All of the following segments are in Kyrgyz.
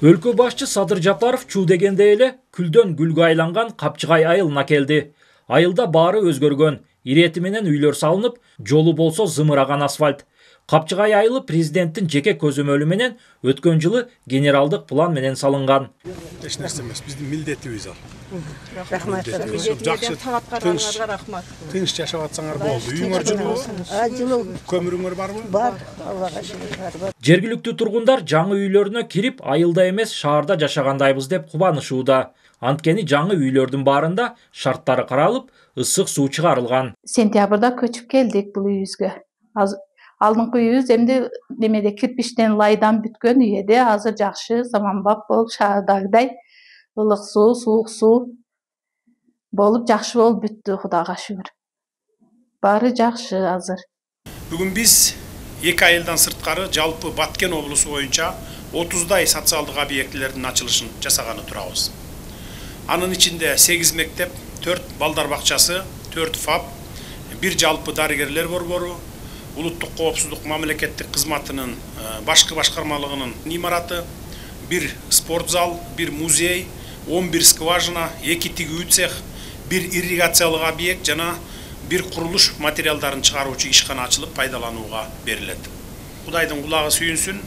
Өлкө башчы Садыр Жапаров чуу дегенде эле күлдөн гүлгө айланган Капчыгай айылына келди. Айылда баары өзгөргөн, ирети менен үйлөр салынып, жолу болсо зымыраган асфальт. Капчыгай айылы президенттин жеке көзөмөлү менен өткөн жылы генералдык план менен салынган. Эч нерсе эмес, биздин милдетибиз ал. Рахмат. Тынч жашап атсаңар болду. Үйүңөр жылуу? Көмүрүңөр барбы? Бар, Аллага шүгүр. Жергиликтүү тургундар жаңы үйлөрүнө кирип, айылда эмес, шаарда жашагандайбыз деп кубанышууда. Анткени жаңы үйлөрдүн баарында шарттары каралып, ысык суу чыгарылган. Сентябрда көчүп келдик бул үйүбүзгө. Алдыңкы үйүбүз эмди немеде кирпичтен лайдан бүткөн үй эди. Азыр жакшы, заманбап болуп, шаардагыдай ылык суу, суук суу болуп жакшы болуп бүттү, Кудайга шүгүр. Баары жакшы азыр. Бүгүн биз 2 айылдан сырткары жалпы Баткен облусу боюнча 30дай социалдык объектилердин ачылышын жасаганы турабыз. Анын ичинде 8 мектеп, 4 балдар бакчасы, 4 ФАП, 1 жалпы дарыгерлер борбору, улуттук коопсуздук мамлекеттик кызматынын башкы башкармалыгынын имараты, 1 спорт зал, 1 музей, 11 скважина, 2 тигүү цех, 1 ирригациялык объект жана 1 курулуш материалдарын чыгаруучу ишкана ачылып пайдаланууга берилет. Кудайдын кулагы сүйүнсүн,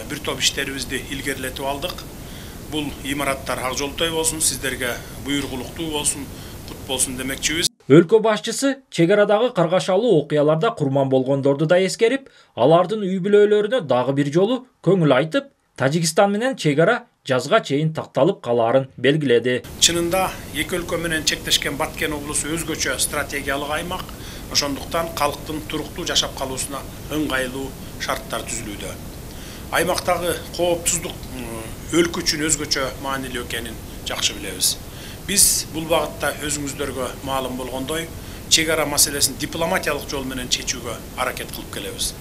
бир топ иштерибизди илгерилетип алдык. Бул имараттар ак жолтой болсун, сиздерге буйругулуктуу болсун, кут болсун демекчибиз. Өлкө башчысы чек арадагы каргашалуу окуяларда курман болгондорду да эскерип, алардын үй бүлөлөрүнө дагы бир жолу көңүл айтып, Тажикстан менен чек ара жазга чейин такталып калаарын белгиледи. Чынында эки өлкө менен чектешкен Баткен облусу өзгөчө стратегиялык аймак, ошондуктан калктын туруктуу жашап калуусуна ыңгайлуу шарттар түзүлүүдө. Аймактагы коопсуздук өлкө үчүн өзгөчө маанилүү экенин жакшы билебиз. Биз бул багытта өзүңүздөргө маалым болгондой, чек ара маселесин дипломатиялык жол менен чечүүгө аракет кылып келебиз.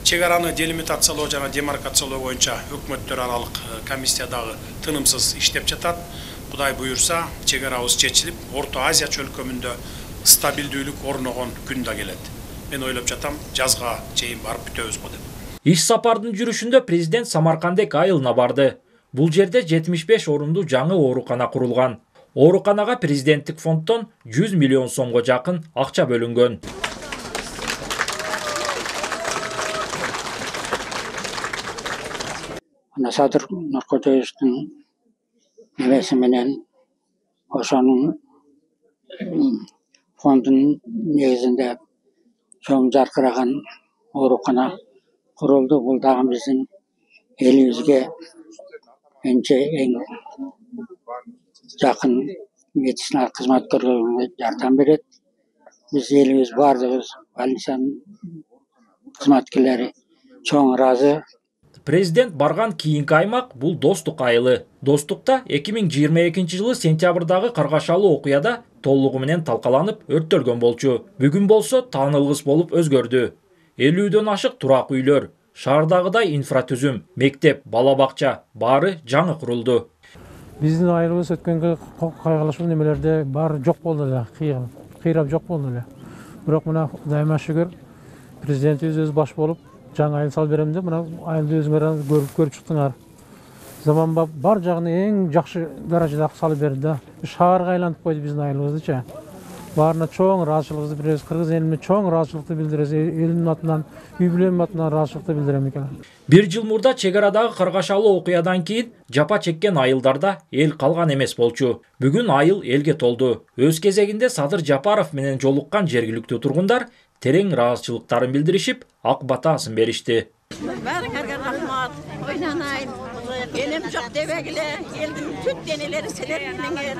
Чек араны делимитациялоо жана демаркациялоо боюнча өкмөттөр аралык комиссия дагы тынымсыз иштеп жатат. Кудай буюрса, чек арабыз чечилип, Орто Азия чөлкөмүндө стабилдүүлүк орногон күн да келет. Мен ойлоп жатам, жазга чейин барып бүтөбүз го деп. Иш сапардын жүрүшүндө президент Самаркандек айылына барды. Бул жерде 75 орундуу жаңы оорукана курулган. Ооруканага президенттик фонддон 100 миллион сомго жакын акча бөлүнгөн. Садыр Нуркожоевдун небеси менен ошонун фондунун негизинде чоң жаркыраган оорукана курулду. Бул дагы биздин элибизге эң жакын медициналык кызматкерлерге жардам берет. Биз элибиз баардыгыбыз больницанын кызматкерлери чоң ыраазы. Президент барган кийинки аймак бул Достук айылы. Достукта 2022 жылы сентябрдагы каргашалуу окуяда толугу менен талкаланып өрттөлгөн болчу. Бүгүн болсо таанылгыс болуп өзгөрдү. 50дөн ашык турак үйлөр, шаардагыдай инфратүзүм, мектеп, бала бакча баары жаңы курулду. Биздин айылыбыз өткөнгө кайгылашуу немелерде баары жок болду эле, кыйрап жок болду эле. Бирок мына Кудайыма шүгүр, президентибиз өз баш болуп жаңы айыл салып берем деп, мына айылды өзүңөр көрүп чыктыңар. Заманбап бар жагын эң жакшы даражада салып берди да. Шаарга айлантып койду биздин айылыбыздычы. Баарына чоң ыраазычылыгыбызды билдиребиз. Кыргыз элине чоң ыраазычылыкты билдиребиз. Элимдин атынан, үй бүлөмдүн атынан ыраазычылыкты билдирем экен. Бир жыл мурда чек арадагы каргашалуу окуядан кийин жапа чеккен айылдарда эл калган эмес болчу. Бүгүн айыл элге толду. Өз кезегинде Садыр Жапаров менен жолуккан жергиликтүү тургундар терең ыраазычылыктарын билдиришип, ак батасын беришти. Баарыңарга рахмат. Ойланайын. Элим жок дебегиле, элдин бүт денелери силер менен.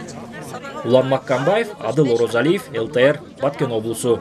Улан Маккамбаев, Адыл Орозалиев, ЛТР, Баткен облусу.